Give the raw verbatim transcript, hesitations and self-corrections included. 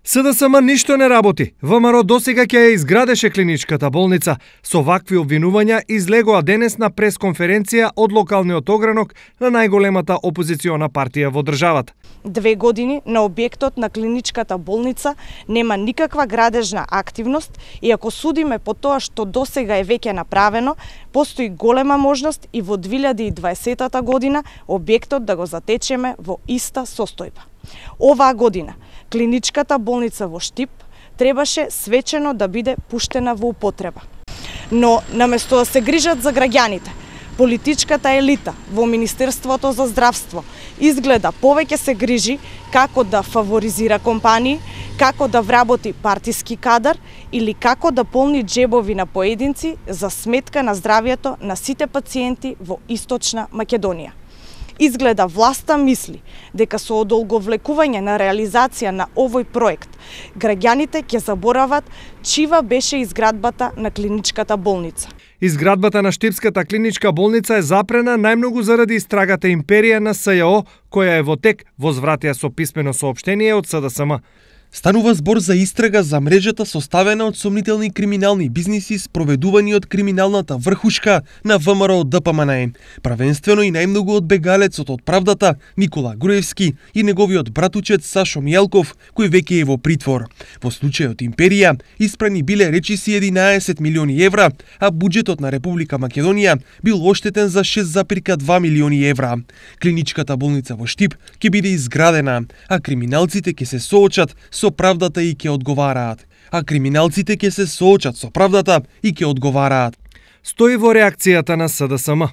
СДСМ ништо не работи. ВМРО досега ќе ја изградеше клиничката болница. Со вакви обвинувања излегоа денес на пресконференција од локалниот огранок на најголемата опозициона партија во државата. Две години на објектот на клиничката болница нема никаква градежна активност и ако судиме по тоа што досега е веќе направено, постои голема можност и во две илјади и дваесетта година објектот да го затечеме во иста состојба. Оваа година клиничката болница во Штип требаше свечено да биде пуштена во употреба. Но наместо да се грижат за граѓаните, политичката елита во Министерството за здравство изгледа повеќе се грижи како да фаворизира компании, како да вработи партиски кадар или како да полни джебови на поединци за сметка на здравјето на сите пациенти во Источна Македонија. Изгледа власта мисли дека со одолговлекување на реализација на овој проект, граѓаните ќе заборават чива беше изградбата на клиничката болница. Изградбата на Штипската клиничка болница е запрена најмногу заради истрагата империја на СЈО, која е во тек, возвратија со писмено соопштение од СДСМ. Станува збор за истрага за мрежата составена од сомнителни криминални бизниси спроведувани од криминалната врхушка на ВМРО ДПМНЕ. Правенствено и најмногу од бегалецот од правдата Никола Груевски и неговиот братучет Сашо Мијалков, кој веќе е во притвор. Во случајот Империја испрани биле речиси единаесет милиони евра, а буџетот на Република Македонија бил оштетен за шест запирка две милиони евра. Клиничката болница во Штип ќе биде изградена, а криминалците ќе се соочат со правдата и ќе одговараат. А криминалците ќе се соочат со правдата и ќе одговараат. Стои во реакцијата на СДСМ.